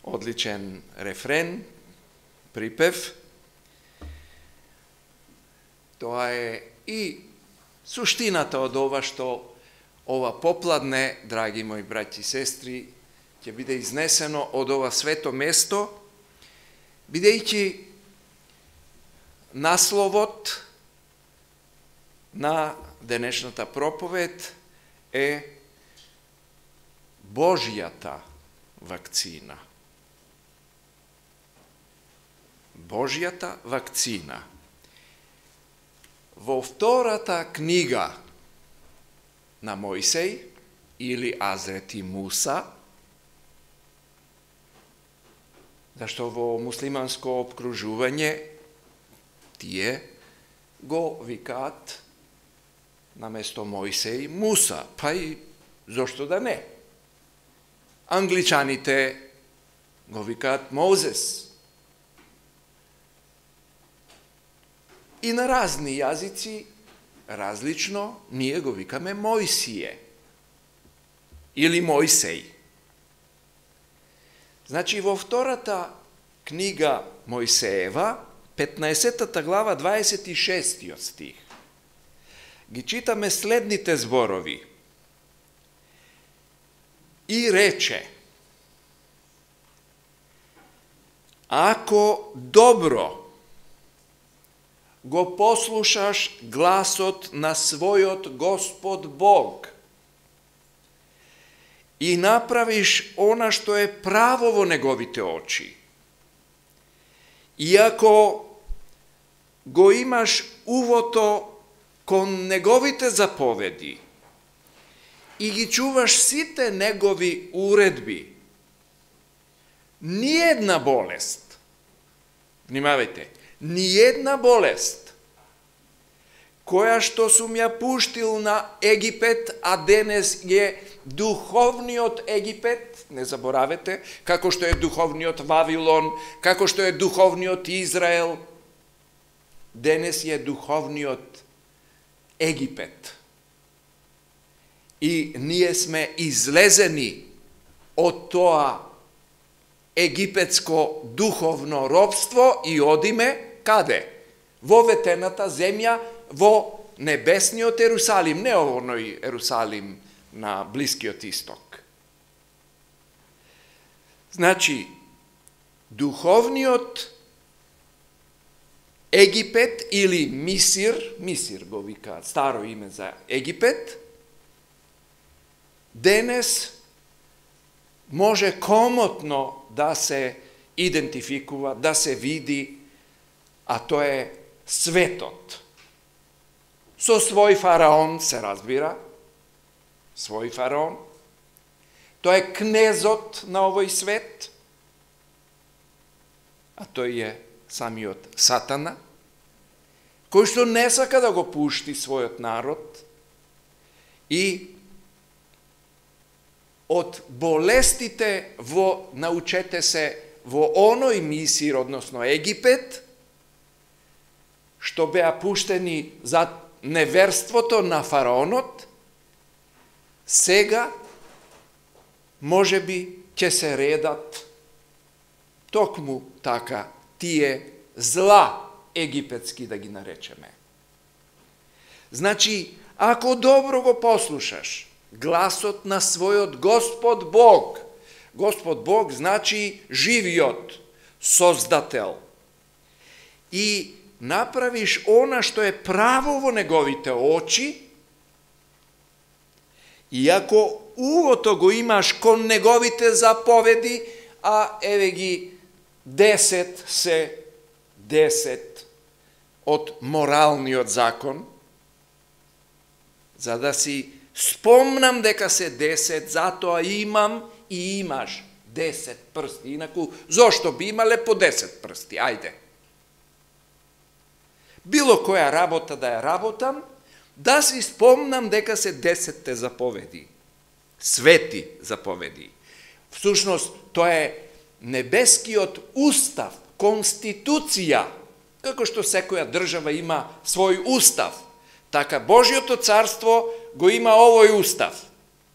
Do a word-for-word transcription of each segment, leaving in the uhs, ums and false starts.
одличен рефрен, припев. Тоа е и суштината од ова што ова попладне, драги мои браќи и сестри, ќе биде изнесено од ова свето место, бидејќи насловот на денешната проповед е Божјата вакцина. Божјата вакцина. Во втората книга на Мојсеј, или Азрети Муса, зашто во муслиманско обкружување тие го викаат наместо Мојсеј Муса, па и зошто да не? Англичаните го викаат Мозес. И на разни јазици, различно, ние го викаме Мојсие или Мојсеј. Значи, во втората книга Мојсеева, петнаесеттата глава, дваесет и шестиот стих, ги читаме следните зборови. И рече: ако добро го послушаш гласот на својот Господ Бог и направиш она што е право во неговите очи, и ако го имаш увото кон неговите заповеди и ги чуваш сите негови уредби, ниедна болест, внимавајте, ниедна болест, која што сум ја пуштил на Египет, а денес е духовниот Египет, не заборавете, како што е духовниот Вавилон, како што е духовниот Израел, денес е духовниот Египет. И ние сме излезени од тоа египетско духовно робство и одиме каде? Во ветената земја, во небесниот Ерусалим, не овој Ерусалим на Блискиот Исток. Значи, духовниот Египет или Мисир, Мисир го викаат, старо име за Египет, денес може комотно да се идентификува, да се види, а тоа е светот. Со свој фараон, се разбира, свој фараон. Тоа е кнезот на овој свет, а тој е самиот Сатана, кој што не сака да го пушти својот народ и од болестите во, научете се, во оној Мисир, односно Египет, што беа пуштени за неверството на фараонот, сега може би ќе се редат токму така тие зла египетски, да ги наречеме. Значи, ако добро го послушаш гласот на својот Господ Бог, Господ Бог значи живиот создател, и направиш она што е право во неговите очи, и ако увото го имаш кон неговите заповеди, а еве ги десет се десет од моралниот закон, за да си спомнам дека се десет, затоа имам и имаш десет прсти. Инаку, зошто би имале по десет прсти? Ајде. Било која работа да ја работам, да си спомнам дека се десетте заповеди. Свети заповеди. Всушност, тоа е небескиот устав, конституција, како што секоја држава има свој устав, така Божјото царство го има овој устав.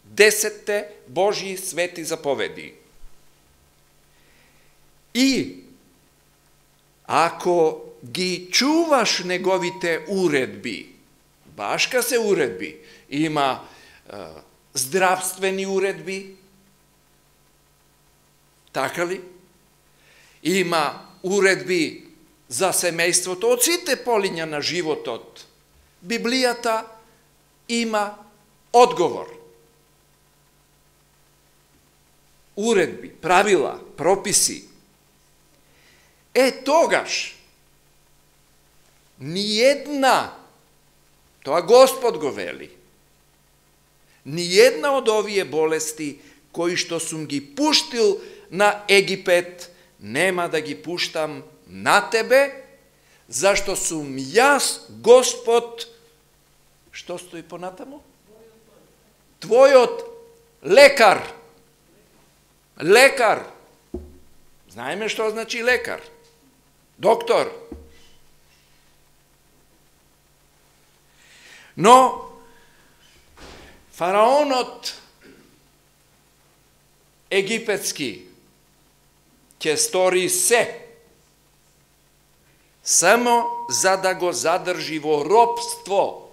Десетте Божји свети заповеди. И ако ги чуваш неговите уредби, башка се уредби, има е, здравствени уредби, така ли? Има уредби за семејството, од сите полиња на животот. Библијата има одговор. Уредби, правила, прописи. Е, тогаш, ниједна, тоа Господ го вели, ниједна од овие болести, кои што сум ги пуштил на Египет, нема да ги пуштам на тебе, зашто сум јас, Господ, што стои понатаму? Твојот лекар. Лекар. Знаеме што значи лекар. Доктор. Но фараонот египетски ќе стори се само за да го задржи во робство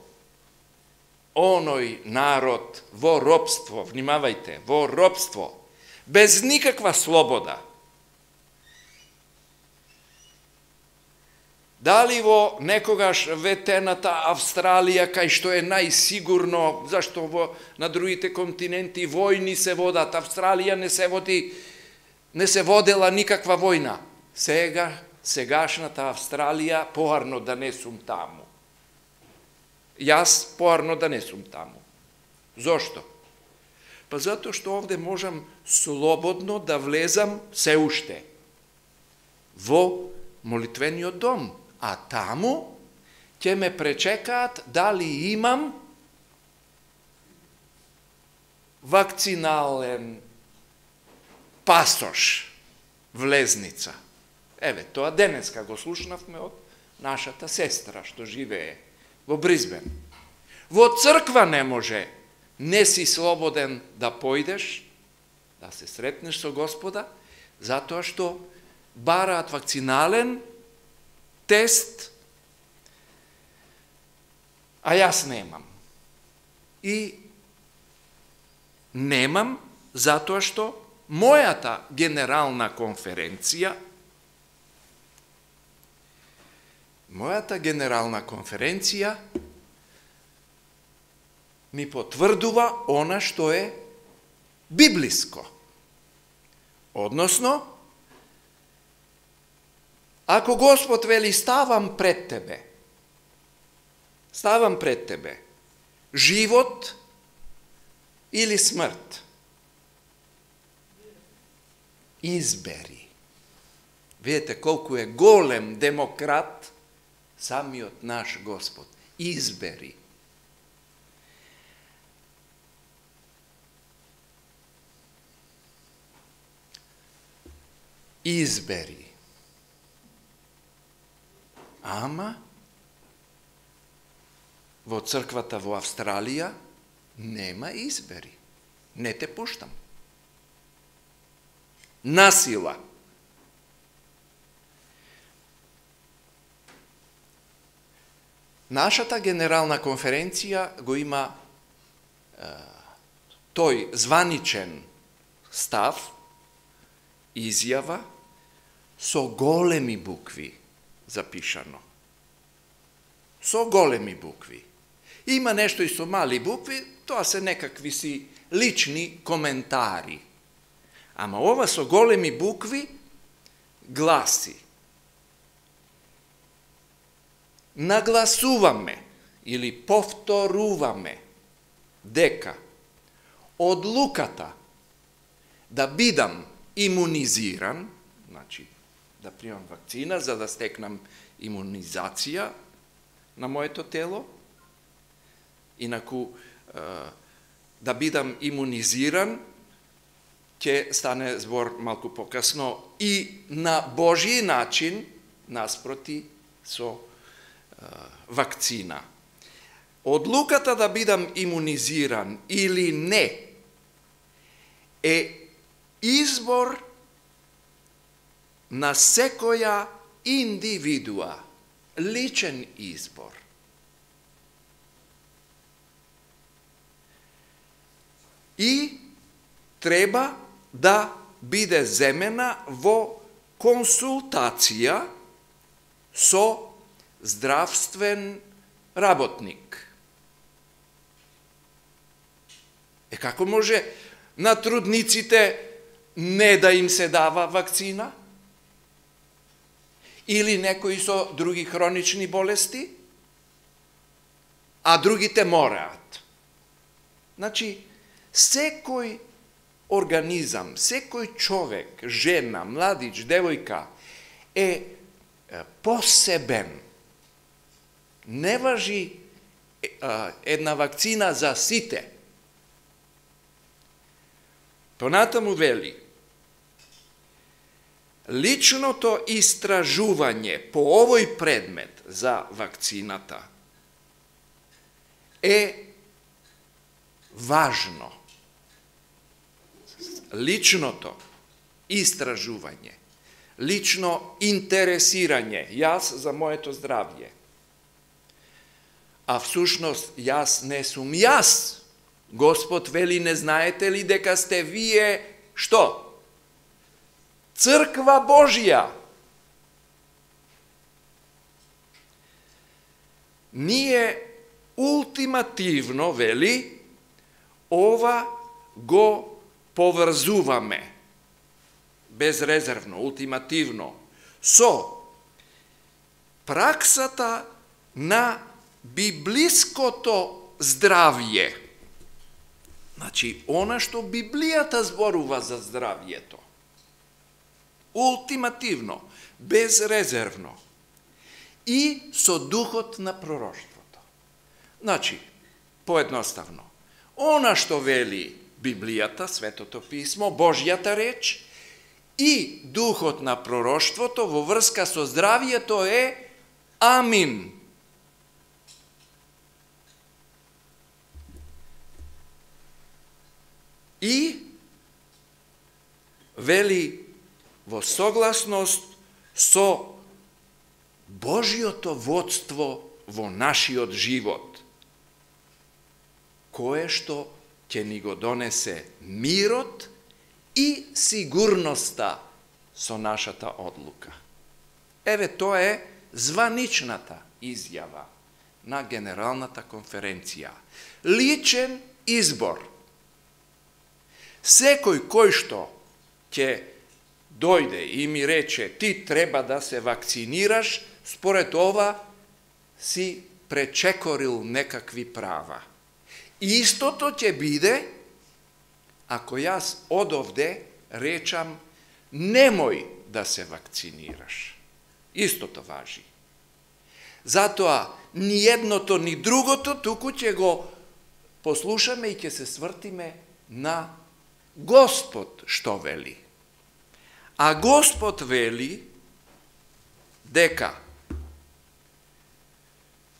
оној народ, во робство, внимавајте, во робство, без никаква слобода. Дали во некогаш ветената Австралија, кај што е најсигурно, зашто во, на другите континенти војни се водат, Австралија не се води, не се водела никаква војна. Сега, сегашната Австралија, поарно да не сум таму. Јас поарно да не сум таму. Зошто? Па затоа што овде можам слободно да влезам се уште во молитвениот дом, а таму ќе ме пречекаат дали имам вакцинален пасош, влезница. Еве, тоа денеска го слушнавме од нашата сестра што живее во Бризбен. Во црква не може, не си слободен да појдеш, да се сретнеш со Господа, затоа што бараат вакцинален тест, а јас немам. И немам затоа што мојата генерална конференција мојата генерална конференција ми потврдува она што е библиско. Односно, ако Господ вели ставам пред тебе, ставам пред тебе, живот или смрт, избери. Видите колку е голем демократ самиот наш Господ. Избери. Избери. Ама во црквата во Австралија нема избери. Не те пуштам. Насила. Нашата генерална конференција го има е, тој званичен став, изјава, со големи букви запишано. Со големи букви. Има нешто и со мали букви, тоа се некакви си лични коментари. Ама ова со големи букви гласи: нагласуваме или повторуваме дека одлуката да бидам имунизиран, значи да примам вакцина за да стекнам имунизација на моето тело, инаку да бидам имунизиран, ќе стане збор малку покасно, и на Божји начин, наспроти со вакцина. Одлуката да бидам имунизиран или не е избор на секоја индивидуа, личен избор. И треба да биде земена во консултација со здравствен работник. Е, како може на трудниците не да им се дава вакцина? Или некои со други хронични болести? А другите мораат. Значи, секој организам, секој човек, жена, младич, девојка е посебен. Не важи една вакцина за сите. Понатаму вели, личното истражување по овој предмет за вакцината е важно. Личното истражување, лично интересирање, јас за моето здравје. А всушност, јас не сум јас. Господ вели, не знаете ли дека сте вие, што? Црква Божја. Ние ултимативно, вели, ова го поврзуваме, безрезервно, ултимативно, со праксата на библиското здравје. Значи, она што Библијата зборува за здравјето. Ултимативно, безрезервно. И со духот на пророштвото. Значи, поедноставно, она што вели Библијата, Светото писмо, Божјата реч, и духот на пророштвото во врска со здравјето е амин. И вели во согласност со Божјото водство во нашиот живот, кое што ќе ни го донесе мирот и сигурноста со нашата одлука. Еве, тоа е званичната изјава на Генералната конференција. Личен избор. Секој кој што ќе дојде и ми рече ти треба да се вакцинираш, според ова си пречекорил некакви права. Истото ќе биде ако јас одовде речам немој да се вакцинираш. Истото важи. Затоа ни едното ни другото туку ќе го послушаме и ќе се свртиме на Господ што вели. А Господ вели дека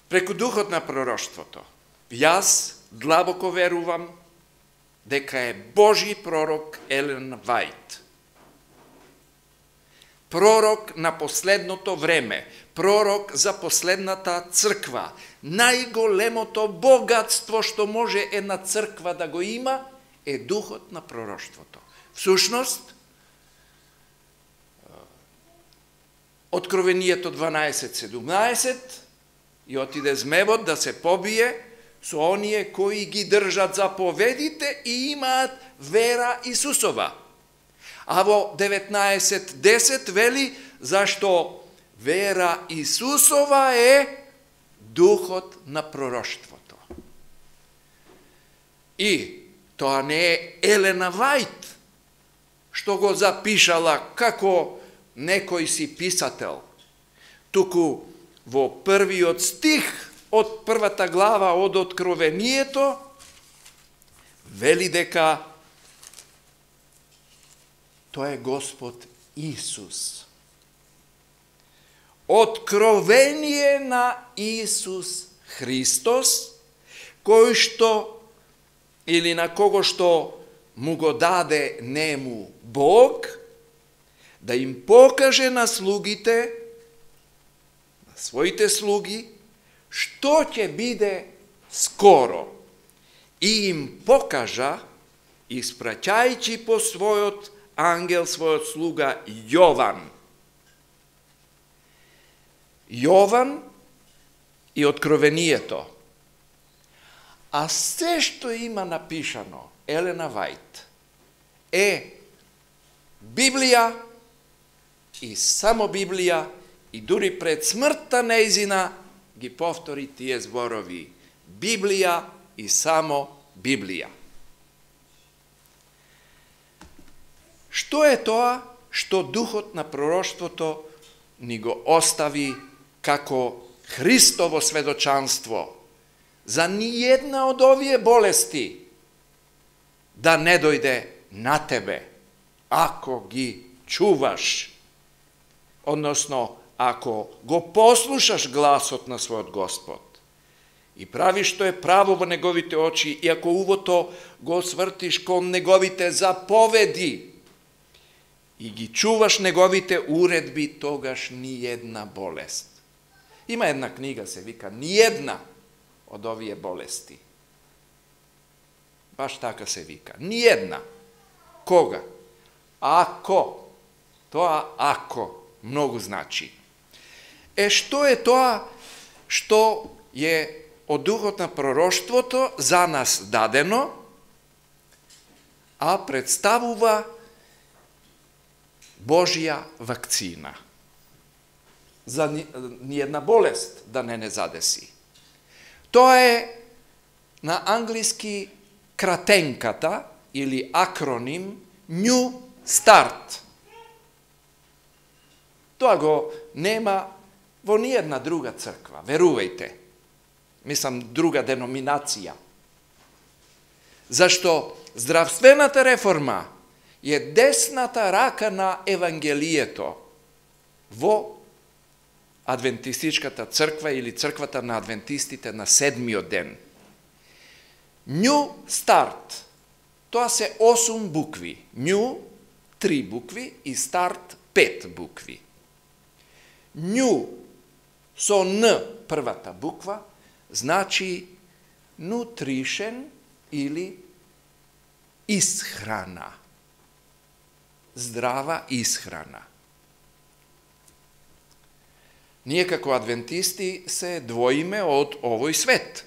преку духот на пророштвото јас длабоко верувам дека е Божи пророк Елен Вајт. Пророк на последното време, пророк за последната црква. Најголемото богатство што може една црква да го има е духот на пророштвото. Всушност, Откровението дванаесет седумнаесет и отиде змевот да се побие со оние кои ги држат заповедите и имаат вера Исусова. А во деветнаесет десет вели зашто вера Исусова е духот на пророштвото. И тоа не е Елена Вајт што го запишала како некој си писател, туку во првиот стих од првата глава од Откровението вели дека тоа е Господ Исус. Откровение на Исус Христос, кој што или на кого што му го даде нему Бог, да им покаже на слугите, на своите слуги, што ќе биде скоро. И им покажа, испраќајќи по својот ангел, својот слуга Јован. Јован и Откровението. А се што има напишано, Елена Вајт, е Библија и само Библија, и дури пред смртта нејзина ги повтори тие зборови. Библија и само Библија. Што е тоа што духот на пророштвото ни го остави како Христово сведочанство за ниједна од овие болести да не дојде на тебе, ако ги чуваш, односно, ако го послушаш гласот на својот Господ и правиш што е право во неговите очи, и ако увото го свртиш кон неговите заповеди и ги чуваш неговите уредби, тогаш ниједна болест. Има една книга, се вика Ниједна од овие болести. Баш така се вика. Ниједна. Кога? Ако. Тоа ако многу значи. Е, што е тоа што е од духот на пророштвото за нас дадено, а представува Божја вакцина за ниједна болест да не не задеси. Тоа е на англиски кратенката или акроним New Start. Тоа го нема во ниједна друга црква, верувајте. Мислам, друга деноминација. Зашто здравствената реформа е десната рака на Евангелието во адвентистичката црква или црквата на адвентистите на седмиот ден. New Start. Тоа се осум букви. New, три букви и Start, пет букви. New, со Н првата буква, значи nutrition или исхрана. Здрава исхрана. Ние како адвентисти се двоиме од овој свет.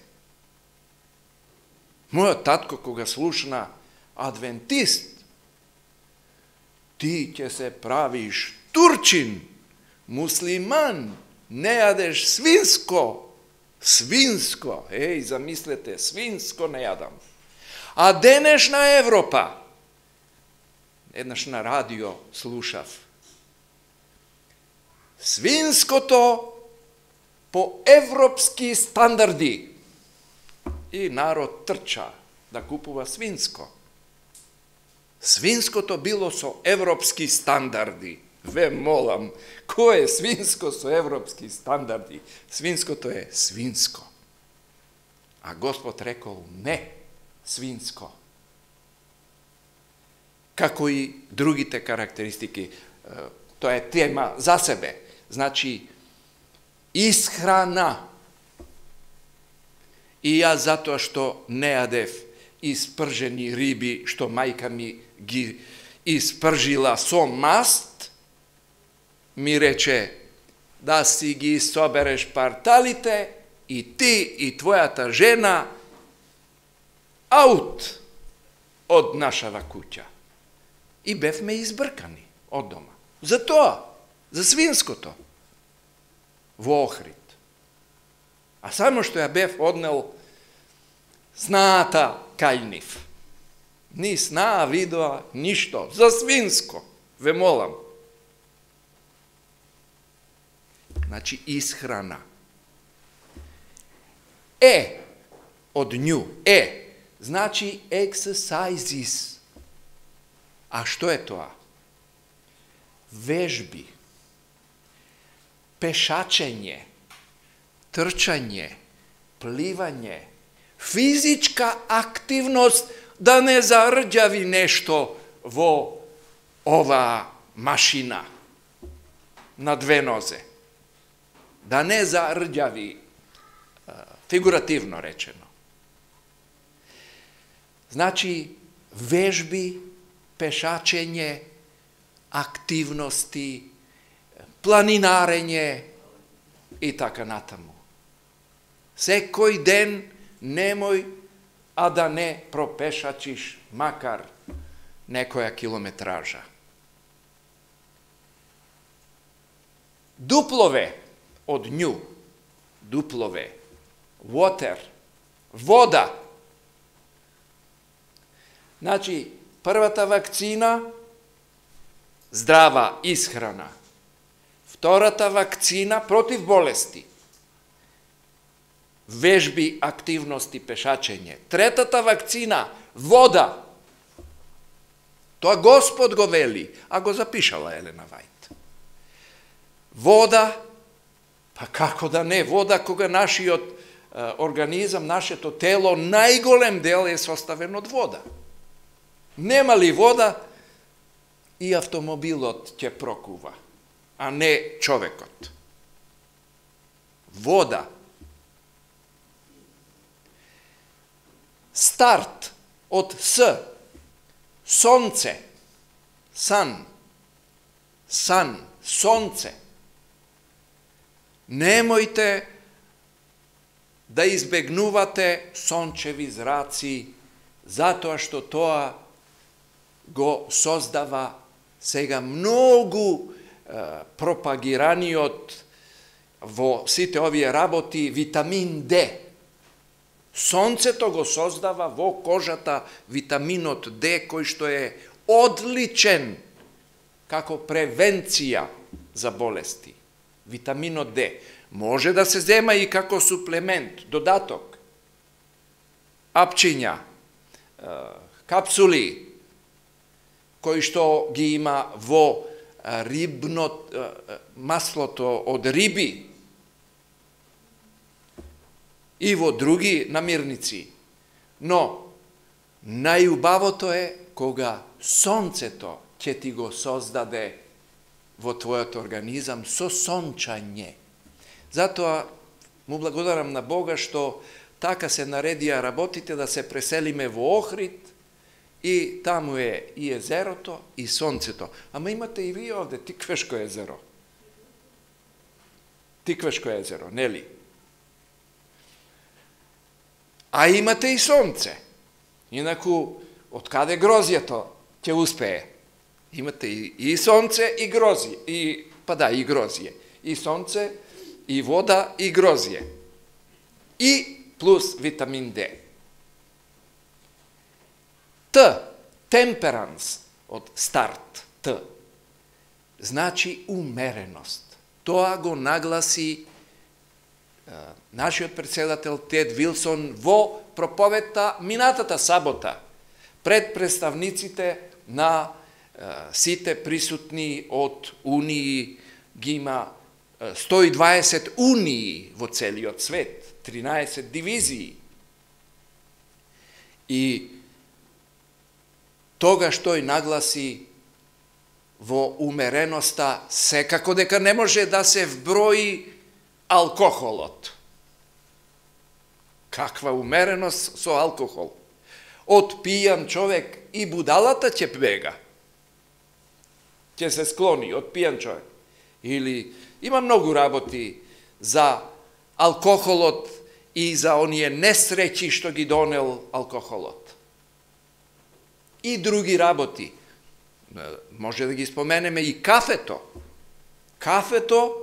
Мојот татко кога слушна адвентист, ти ќе се правиш турчин, муслиман, не јадеш свинско, свинско, еј, замислете, свинско не јадам. А денешна Европа, еднаш на радио слушав, свинското по европски стандарди. И народ трча да купува свинско. Свинското било со европски стандарди. Ве молам, кој е свинско со европски стандарди? Свинското е свинско. А Господ рекол не свинско. Како и другите карактеристики. Тоа е тема за себе. Значи, исхрана. И јас затоа што не јадев испржени риби, што мајка ми ги испржила со маст, ми рече да си ги собереш парталите и ти и твојата жена аут од нашава куќа. И бевме избркани од дома. За тоа, за свинското, во Охрид. А само што ја бев однел снаата кај нив. Ни снаа видоа, ништо. За свинско, ве молам. Значи, исхрана. Е, од нju, е, значи exercises. А што е тоа? Вежби, пешачење, трчање, пливање, физичка активност да не зарđави нешто во ова машина на две нозе. Да не зарđаvi, фигуративно речено. Значи, вежби, пешачење, активности, планинарење и така натаму. Секој ден немој, а да не пропешачиш макар некоја километража. Дуплове од нju, дуплове, water, вода. Значи, првата вакцина, здрава исхрана. Втората вакцина, против болести. Вежби, активности, пешачење. Третата вакцина, вода. Тоа Господ го вели, а го запишала Елена Вајт. Вода, па како да не, вода кога нашиот е, организам, нашето тело, најголем дел е составен од вода. Нема ли вода, и автомобилот ќе прокува, а не човекот. Вода. Старт од С, сонце, сан, сан, сонце. Немојте да избегнувате сончеви зраци, затоа што тоа го создава сега многу е, пропагираниот во сите овие работи витамин Д. Сонцето го создава во кожата витаминот Д, кој што е одличен како превенција за болести. Витаминот Д може да се зема и како суплемент, додаток. Апчиња, капсули, кои што ги има во рибно маслото од риби и во други намирници. Но најубавото е кога сонцето ќе ти го создаде во твојот организам со сончање. Затоа му благодарам на Бога што така се наредија работите да се преселиме во Охрид и таму е и езерото и сонцето. Ама имате и вие овде Тиквешко езеро. Тиквешко езеро, нели? А имате и сонце. Инаку, од каде грозјето ќе успее? Имате и, и сонце и грозје, и, па да, и грозје. И сонце, и вода, и грозје. И плюс витамин Д. Т, темперанс, од старт, Т, значи умереност. Тоа го нагласи е, нашиот председател Тед Вилсон во проповедта минатата сабота пред представниците на е, сите присутни од Унии, ги има е, сто и дваесет унии во целиот свет, тринаесет дивизии. И тогаш тој нагласи во умереноста секако дека не може да се вброи алкохолот. Каква умереност со алкохол? Од пијан човек и будалата ќе бега. Ќе се склони од пијан човек. Или има многу работи за алкохолот и за оние несреќи што ги донел алкохолот. И други работи. Може да ги споменеме и кафето. Кафето,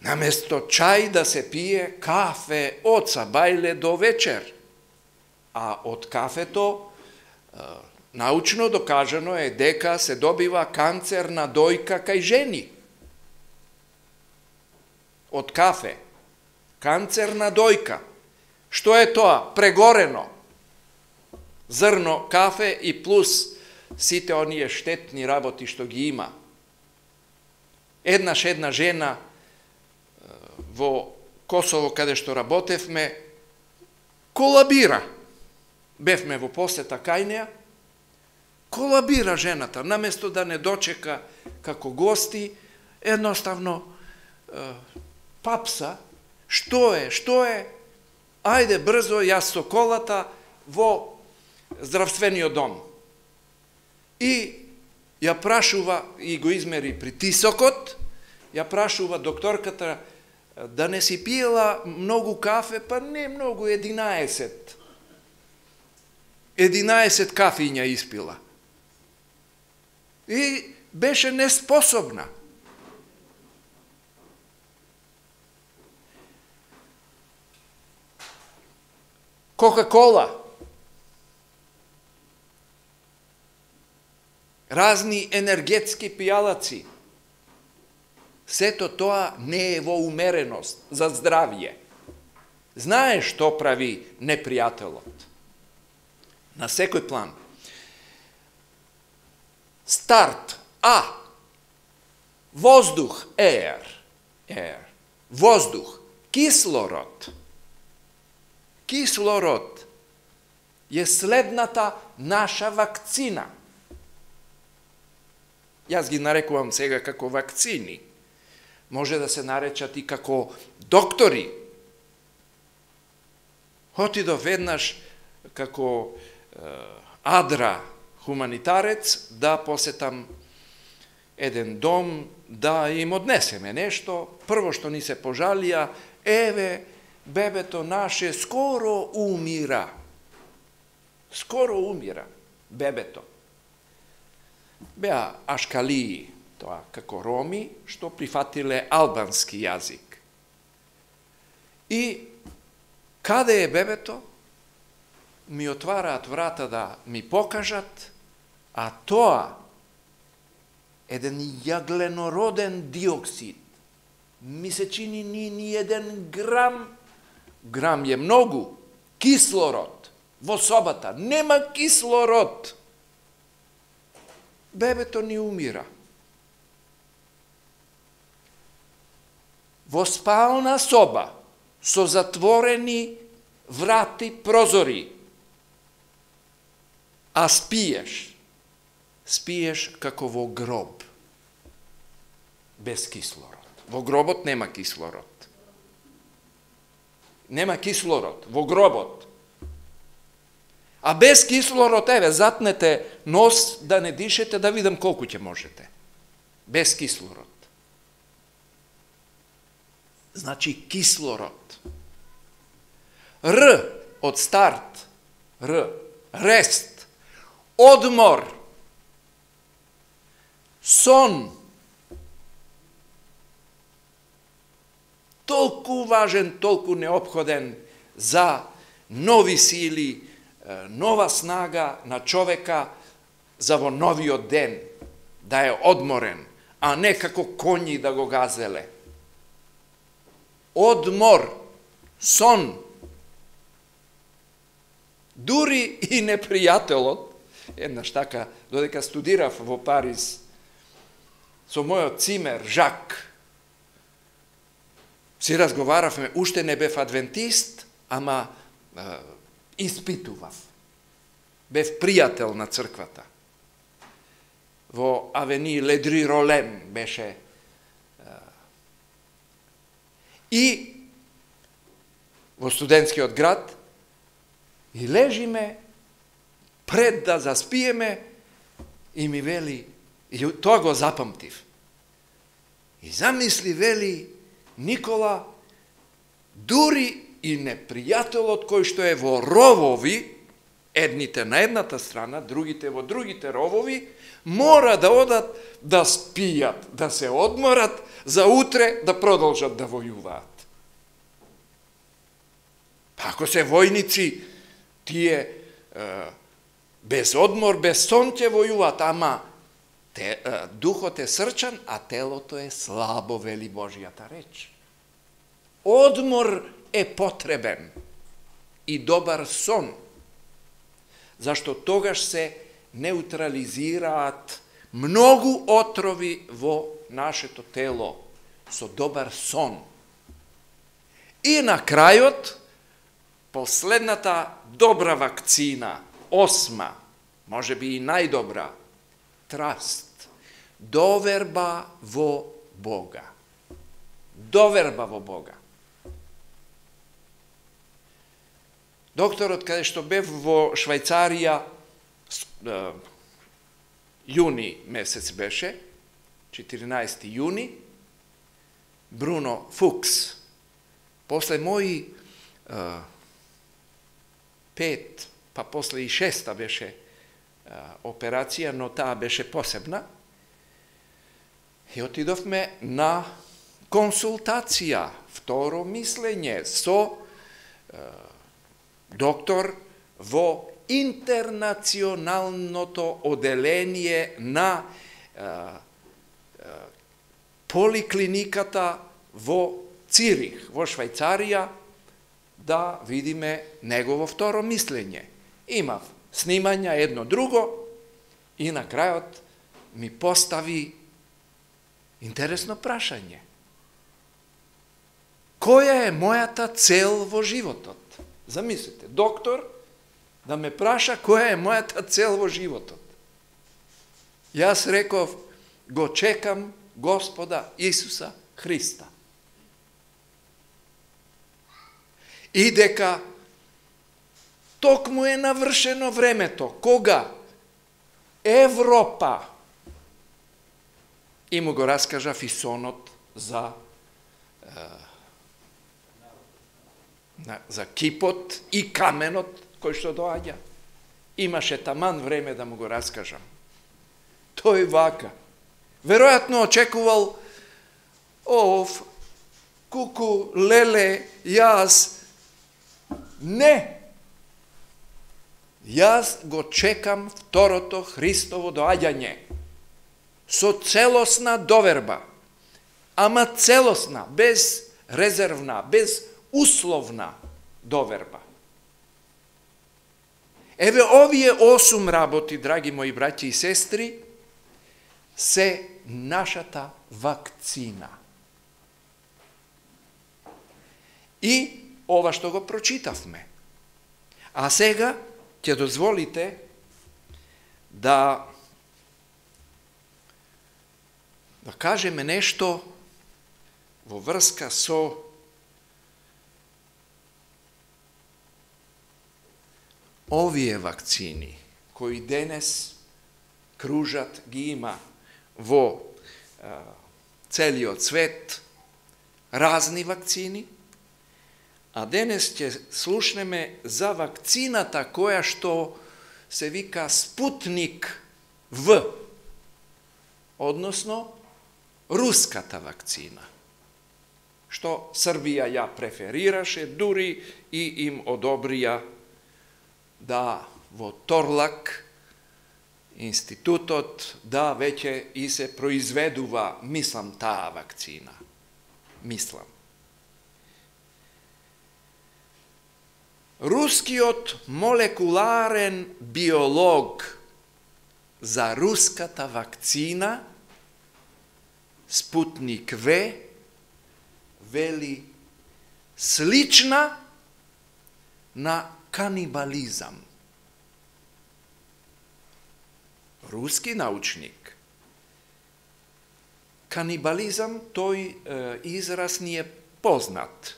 наместо чај да се пие кафе од сабајле до вечер. А од кафето, научно докажано е дека се добива канцер на дојка кај жени. Од кафе. Канцер на дојка. Што е тоа? Прегорено. Зрно кафе и плюс сите оние штетни работи што ги има. Еднаш една жена во Косово, каде што работевме, колабира. Бевме во посета кај неа колабира жената, наместо да не дочека како гости, едноставно е, папса, што е, што е, ајде брзо, јас со колата во здравствениот дом. И ја прашува, и го измери притисокот, ја прашува докторката да не си пиела многу кафе, па не многу, единаесет. единаесет кафиња испила. И беше неспособна. Кока-кола, разни енергетски пијалаци, сето тоа не е во умереност за здравје. Знаеш што прави непријателот? На секој план. Старт. А. Воздух. Air. Air. Воздух. Кислород. Кислород е следната наша вакцина. Јас ги нарекувам сега како вакцини. Може да се наречат и како доктори. Отидов веднаш како е, адра хуманитарец да посетам еден дом, да им однесеме нешто. Прво што ни се пожалија, еве, бебето наше скоро умира. Скоро умира бебето. Беа ашкалии, тоа како роми, што прифатиле албански јазик. И каде е бебето? Ми отвараат врата да ми покажат, а тоа еден јагленороден диоксид. Ми се чини ни, ни еден грам, грам е многу, кислород во собата. Нема кислород. Бебето ни умира. Во спална соба, со затворени врати, прозори, а спиеш, спиеш како во гроб, без кислород. Во гробот нема кислород. Нема кислород во гробот. А без кислород, еве, затнете нос да не дишете, да видам колку ќе можете. Без кислород. Значи кислород. Р од старт. Р. Рест. Одмор. Сон. Толку важен, толку неопходен за нови сили, нова снага на човека за во новиот ден, да е одморен, а не како коњи да го газеле. Одмор, сон. Дури и непријателот, еднаш така, додека студирав во Париз, со мојот цимер, Жак, си разговаравме, уште не бев адвентист, ама е, испитував. Бев пријател на црквата. Во авени Ледри Ролен беше. Е, и во студентскиот град и лежиме пред да заспиеме и ми вели, и тоа го запамтив. И замисли, вели, Никола, дури и непријателот кој што е во ровови, едните на едната страна, другите во другите ровови, мора да одат да спијат, да се одморат, за утре да продолжат да војуваат. Па ако се војници, тие е, без одмор, без сон ќе војуваат, ама те, е, духот е срчан, а телото е слабо, вели Божјата реч. Одмор е потребен и добар сон, зашто тогаш се неутрализираат многу отрови во нашето тело со добар сон. И на крајот, последната добра вакцина, осма, може би и најдобра, траст, доверба во Бога. Доверба во Бога. Докторот, каде што бев во Швајцарија, јуни месец беше, четиринаесети јуни, Бруно Фукс, после мои а, пет, па после и шеста беше а, операција, но таа беше посебна, и отидовме на консултација, второ мислење со а, доктор во интернационалното оделение на а, а, поликлиниката во Цирих, во Швајцарија, да видиме негово второ мислење. Имав снимања едно друго и на крајот ми постави интересно прашање. Која е мојата цел во животот? Замислите, доктор да ме праша која е мојата цел во животот. Јас реков, го чекам Господа Исуса Христа. И дека токму е навршено времето, кога Европа, и му го раскажа фисонот за за кипот и каменот кој што доаѓа. Имаше таман време да му го раскажам. Тој вака. Веројатно очекувал, ов, куку, леле, јас. Не. Јас го чекам второто Христово доаѓање. Со целосна доверба. Ама целосна, без резервна, без условна доверба. Еве овие осум работи, драги мои браќи и сестри, се нашата вакцина. И ова што го прочитавме. А сега ќе дозволите да да кажеме нешто во врска со овие вакцини, кои денес кружат, ги има во а, целиот свет, разни вакцини, а денес ќе слушнеме за вакцината која што се вика Спутник В, односно руската вакцина, што Србија ја преферираше, дури и им одобрија да во Торлак институтот да веќе и се произведува, мислам, таа вакцина. Мислам. Рускиот молекуларен биолог за руската вакцина Спутник В вели слична на канибализам. Руски научник. Канибализам, тој е, израз ни е познат.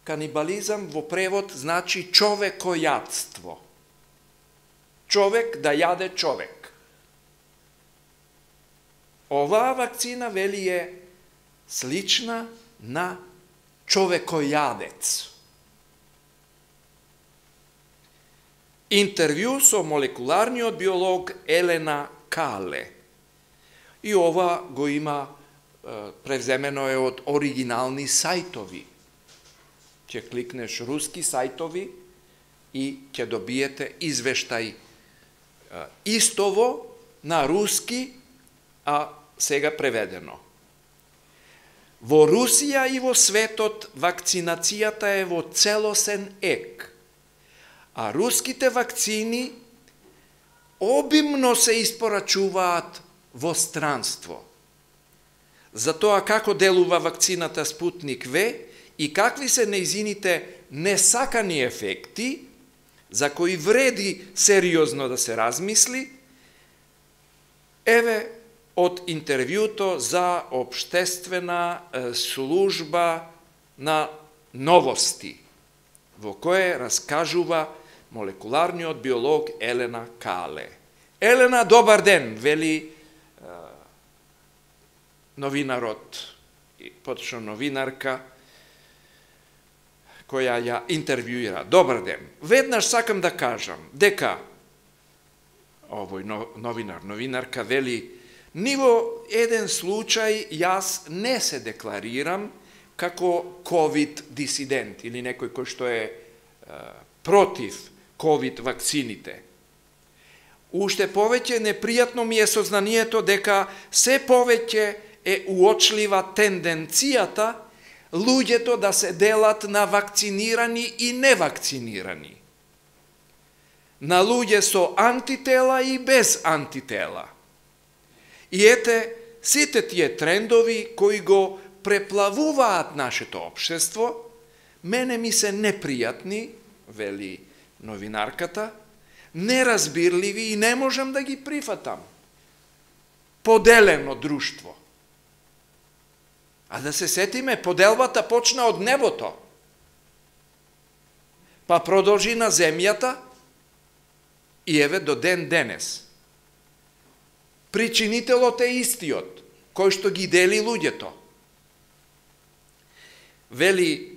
Канибализам во превод значи човекојадство. Човек да јаде човек. Оваа вакцина вели е слична на човекојадец. Интервју со молекуларниот биолог Елена Кале. И ова го има, превземено е од оригинални сајтови. Ќе кликнеш руски сајтови и ќе добиете извештај истово на руски, а сега преведено. Во Русија и во светот вакцинацијата е во целосен ек, а руските вакцини обимно се испорачуваат во странство. За тоа како делува вакцината Спутник В и какви се нејзините несакани ефекти, за кои вреди сериозно да се размисли, еве од интервјуто за Обштествена служба на новости, во кое раскажува молекуларниот биолог Елена Кале. Елена, добар ден, вели новинарот, поточно новинарка, која ја интервјуира. Добар ден. Веднаш сакам да кажам дека овој новинар, новинарка вели, ни во еден случај јас не се декларирам како ковид дисидент или некој кој што е, е против ковид вакцините. Уште повеќе непријатно ми е сознанието дека се повеќе е уочлива тенденцијата луѓето да се делат на вакцинирани и невакцинирани, на луѓе со антитела и без антитела. И ете, сите тие трендови кои го преплавуваат нашето општество, мене ми се непријатни, вели новинарката, неразбирливи и не можам да ги прифатам. Поделено друштво. А да се сетиме, поделбата почна од небото, па продолжи на земјата и еве до ден денес. Причинителот е истиот, кој што ги дели луѓето. Вели,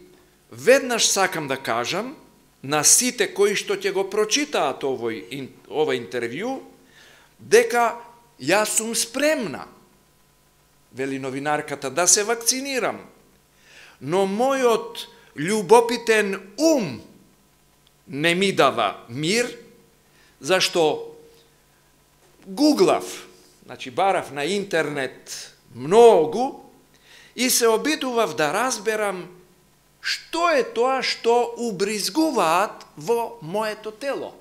веднаш сакам да кажам на сите кои што ќе го прочитаат овој, ова интервју, дека јас сум спремна, вели новинарката, да се вакцинирам, но мојот љубопитен ум не ми дава мир, зашто гуглав, значи барав на интернет многу и се обидував да разберам што е тоа што убризгуваат во моето тело.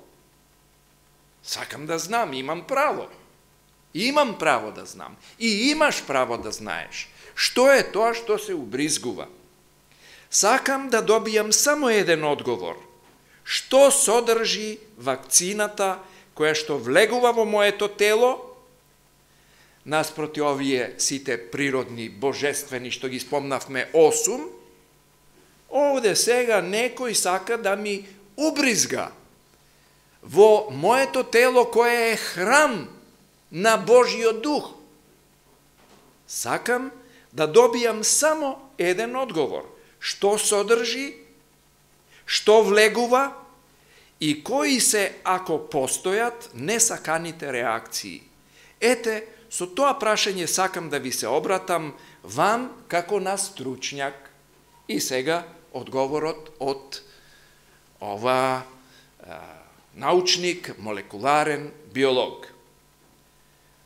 Сакам да знам, имам право. Имам право да знам. И имаш право да знаеш што е тоа што се убризгува. Сакам да добијам само еден одговор. Што содржи вакцината која што влегува во моето тело, наспроти овие сите природни, божествени, што ги спомнавме осум, овде сега некој сака да ми убризга во моето тело кое е храм на Божиот дух. Сакам да добијам само еден одговор. Што содржи, што влегува и кои се, ако постојат, несаканите реакции. Ете, со тоа прашање сакам да ви се обратам вам како на стручњак. И сега одговорот од ова а, научник, молекуларен биолог.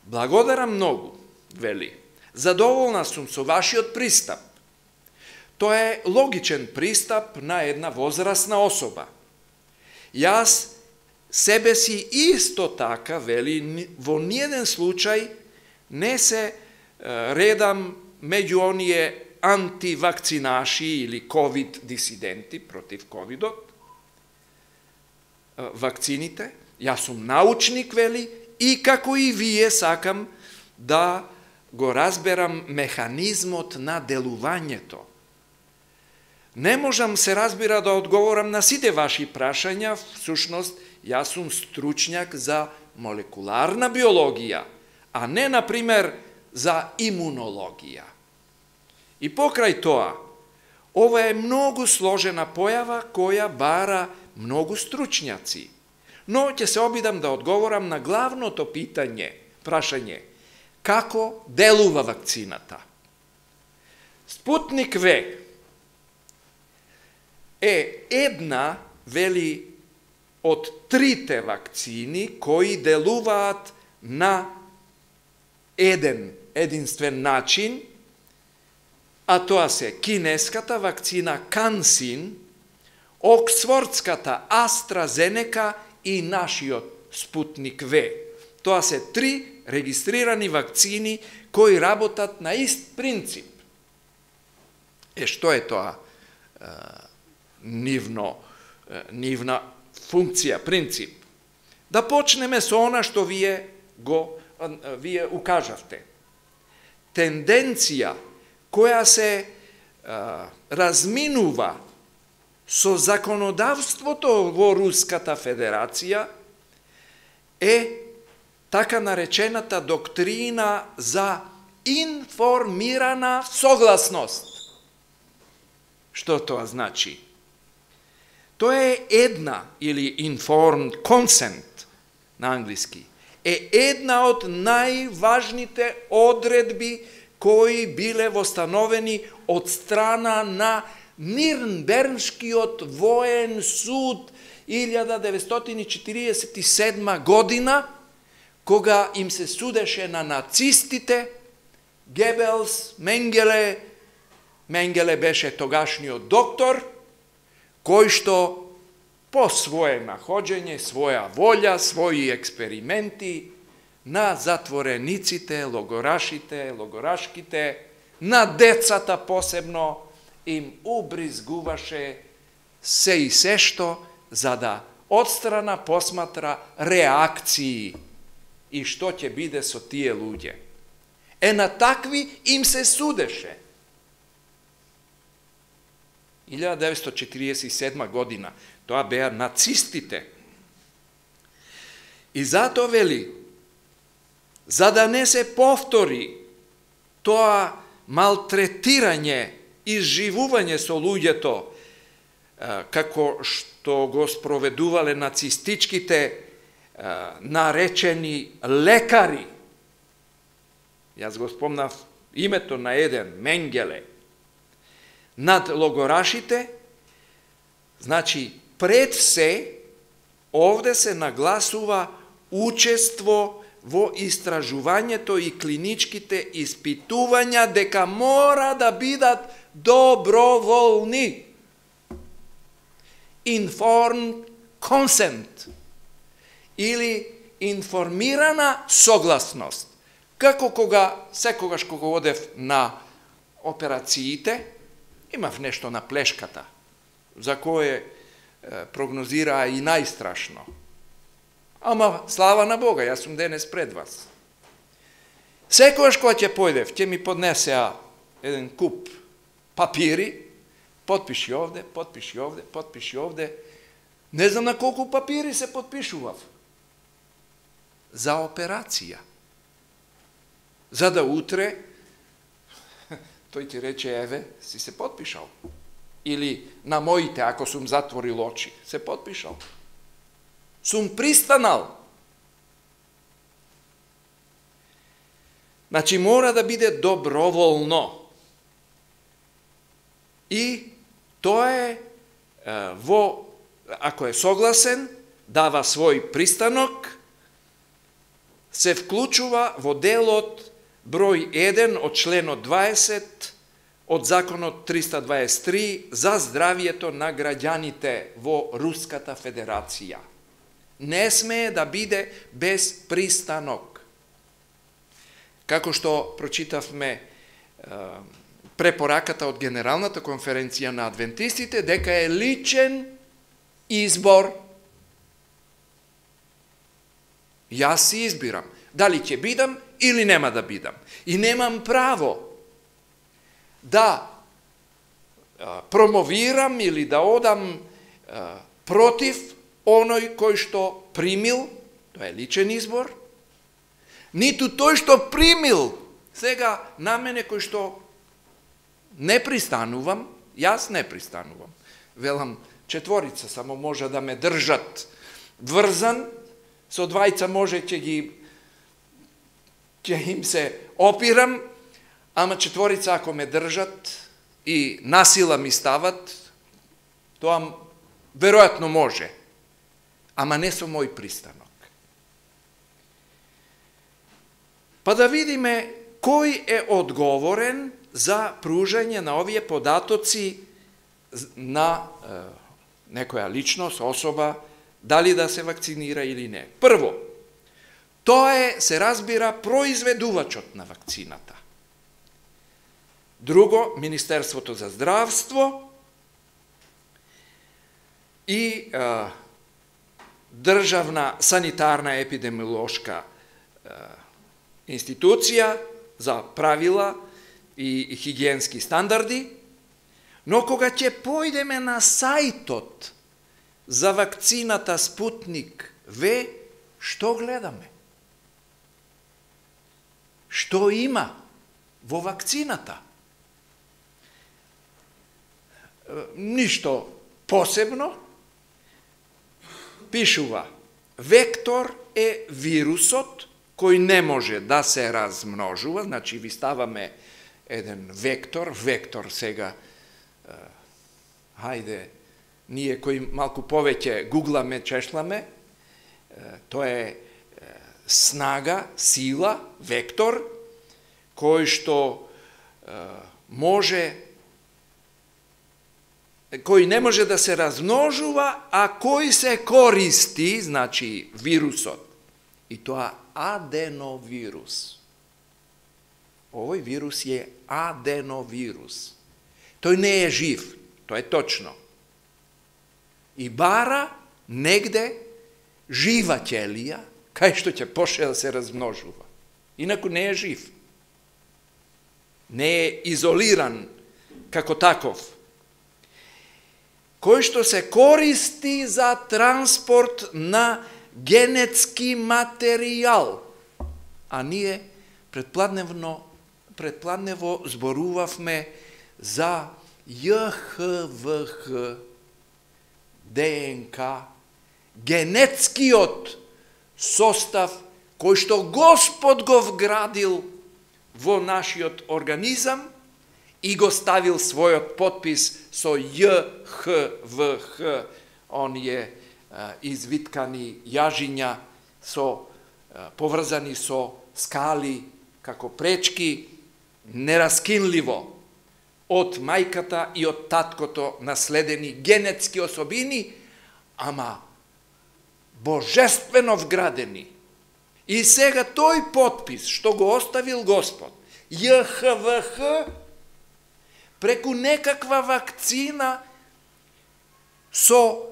Благодарам многу, вели. Задоволна сум со вашиот пристап. Тоа е логичен пристап на една возрастна особа. Јас себе си исто така, вели, во ниеден случај не се редам меѓу оние антивакцинаши или ковид дисиденти против ковидот, вакцините. Јас сум научник, вели, и како и вие сакам да го разберам механизмот на делувањето. Не можам, се разбира, да одговорам на сите ваши прашања, всушност, јас сум стручњак за молекуларна биологија, а не, например, за имунологија. И покрај тоа, ова е многу сложена појава која бара многу стручњаци. Но ќе се обидам да одговорам на главното питање, прашање, како делува вакцината. Спутник В е една, вели, од трите вакцини кои делуваат на еден единствен начин, а тоа се кинеската вакцина Кансин, оксфордската AstraZeneca и нашиот Спутник В. Тоа се три регистрирани вакцини кои работат на ист принцип. Е, што е тоа? Нивно, нивна функција, принцип. Да почнеме со она што вие го вие укажавте. Тенденција која се а, разминува со законодавството во Руската Федерација е така наречената доктрина за информирана согласност. Што тоа значи? Тоа е една, или informed consent на англиски, е една од најважните одредби кои биле востановени од страна на Нирнбергскиот воен суд илјада деветстотини четиридесет и седма година, кога им се судеше на нацистите, Гебелс, Менгеле, Менгеле беше тогашниот доктор, кој што по свое находење, своја волја, своји експерименти на затворениците, логорашите, логорашките, на децата посебно, им убризгуваше се и се што, за да одстрана посматра реакции и што ќе биде со тие луѓе. Е на такви им се судеше. илјада деветстотини четиридесет и седма година, тоа беа нацистите. И затоа вели, за да не се повтори тоа малтретирање, изживување со луѓето, како што го спроведувале нацистичките наречени лекари. Јас го спомнав името на еден, Менгеле, над логорашите, значи, пред се, овде се нагласува учество во истражувањето и клиничките испитувања дека мора да бидат доброволни. Informed consent или информирана согласност. Како кога, секогаш кога одев на операциите, имав нешто на плешката, за кое е, прогнозираа и најстрашно. Ама, слава на Бога, јас сум денес пред вас. Секогаш кога ќе појдев, ќе ми поднесеа еден куп папири, потпиши овде, потпиши овде, потпиши овде. Не знам на колку папири се потпишував. За операција. За да утре, тој ти рече, еве, си се потпишал. Или на моите, ако сум затворил очи, се потпишал. Сум пристанал. Значи, мора да биде доброволно. И тоа е, е во, ако е согласен, дава свој пристанок, се вклучува во делот број еден од членот дваесет од законот триста дваесет и три за здравието на граѓаните во Руската Федерација. Не смее да биде без пристанок. Како што прочитавме е, препораката од Генералната конференција на адвентистите, дека е личен избор. Јас си избирам дали ќе бидам или нема да бидам. И немам право да а, промовирам или да одам а, против оној кој што примил, тоа е личен избор, ниту тој што примил, сега на мене кој што не пристанувам, јас не пристанувам. Велам, четворица само може да ме држат врзан, со двајца може ќе ги ќе им се опирам, ама четворица ако ме држат и насила ми стават, тоа веројатно може, ама не со мој пристанок. Па да видиме кој е одговорен за пружање на овие податоци на е, некоја личност, особа, дали да се вакцинира или не. Прво, тоа е, се разбира, произведувачот на вакцината. Друго, Министерството за здравство и а, државна санитарна епидемиолошка институција за правила и хигиенски стандарди, но кога ќе појдеме на сајтот за вакцината Спутник В, што гледаме? Што има во вакцината? Ништо посебно. Пишува: вектор е вирусот кој не може да се размножува, значи ви ставаме еден вектор, вектор сега, е, хајде, ние кои малку повеќе гугламе, чешламе, е, тоа е, е снага, сила, вектор, кој што е, може, кој не може да се размножува, а кој се користи, значи вирусот, и тоа аденовирус. Овој вирус е аденовирус. Тој не е жив, тоа е точно. И бара негде жива ќелија, кај што ќе почне да се размножува. Инаку не е жив. Не е изолиран како таков. Кој што се користи за транспорт на генетски материјал. А ние предпладневно, предпладнево зборувавме за Ј Х В Х, ДНК, генетскиот состав кој што Господ го вградил во нашиот организам и го ставил својот подпис со Ј Х В Х, оние извиткани јажиња со поврзани со скали како пречки, нераскинливо од мајката и од таткото наследени генетски особини, ама божествено вградени. И сега тој подпис што го оставил Господ, Ј Х В Х, преку некаква вакцина со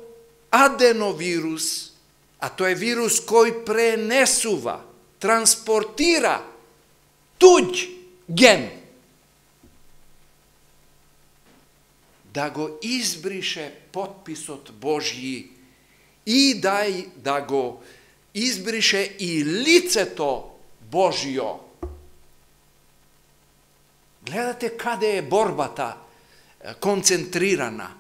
аденовирус, а тоа е вирус кој пренесува, транспортира туѓ ген, да го избрише подписот Божји и да, да го избрише и лицето Божјо. Гледате каде е борбата концентрирана.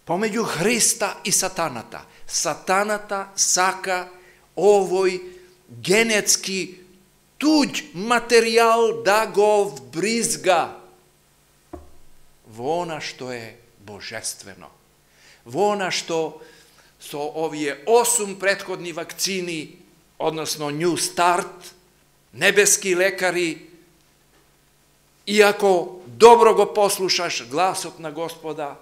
Помеѓу Христа и сатаната. Сатаната сака овој генетски туѓ материјал да го вбризга во она што е божествено. Во она што со овие осум претходни вакцини, односно New Start, небески лекари, иако добро го послушаш гласот на Господа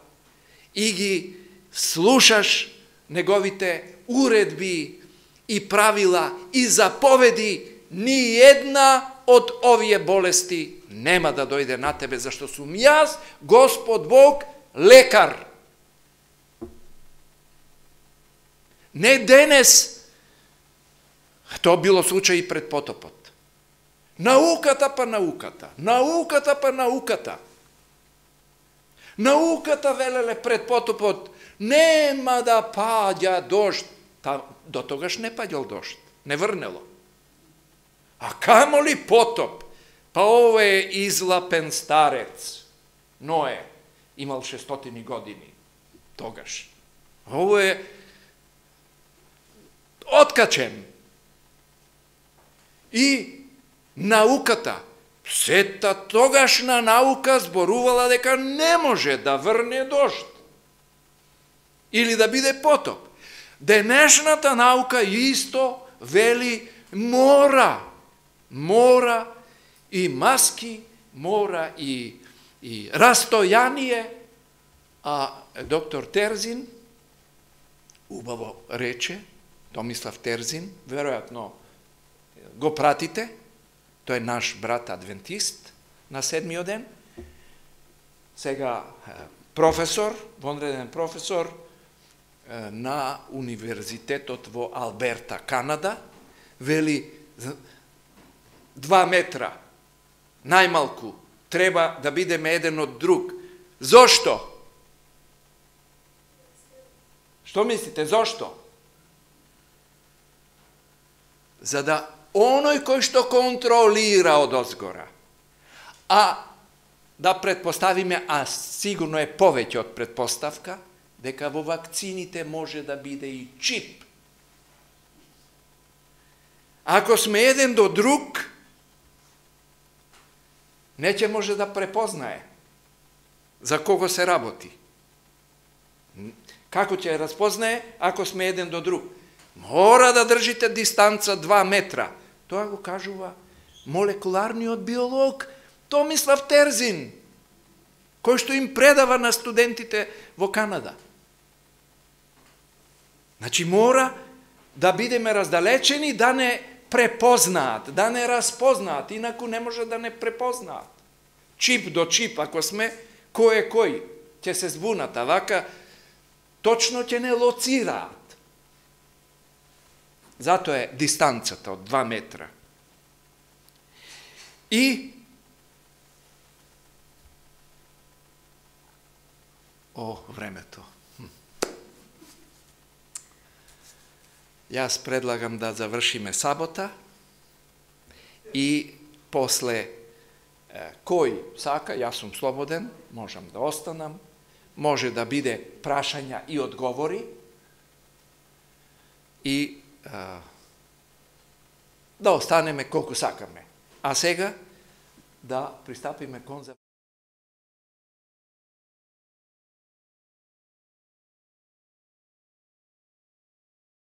и ги слушаш неговите уредби и правила и заповеди, ни една од овие болести нема да дојде на тебе, зашто сум јас, Господ Бог, лекар. Не денес, тоа било случај и пред потопот. Науката па науката, науката па науката. Науката, велеле пред потопот, нема да паѓа дожд. Та, до тогаш не паѓал дожд, не врнело. А камо ли потоп? Па ово е излапен старец. Ное имал шестстотини години тогаш. Ово е откачен. И науката, сета тогашна наука зборувала дека не може да врне дожд или да биде потоп. Денешната наука исто вели мора, мора и маски, мора и, и растојание, а доктор Терзин убаво рече, Томислав Терзин, веројатно го пратите, тој е наш брат адвентист на седмиот ден, сега професор, вонреден професор на универзитетот во Алберта, Канада, вели два метра, најмалку, треба да бидеме еден од друг. Зошто? Што мислите, зошто? За да оној кој што контролира од озгора, а да предпоставиме, а сигурно е повеќе од предпоставка, дека во вакцините може да биде и чип. Ако сме еден до друг, не ќе може да препознае за кого се работи. Како ќе разпознае ако сме еден до друг? Мора да држите дистанца два метра. Тоа го кажува молекуларниот биолог Томислав Терзин, кој што им предава на студентите во Канада. Значи мора да бидеме раздалечени, да не препознаат, да не распознаат, инаку не може да не препознаат. Чип до чип, ако сме, кој е кој, ќе се збунат, а вака точно ќе не лоцираат. Зато е дистанцата од два метра. И О, времето. Јас предлагам да завршиме сабота и после кој сака, јас сум слободен, можам да останам, може да биде прашања и одговори и а, да останеме колку сакаме. А сега да пристапиме кон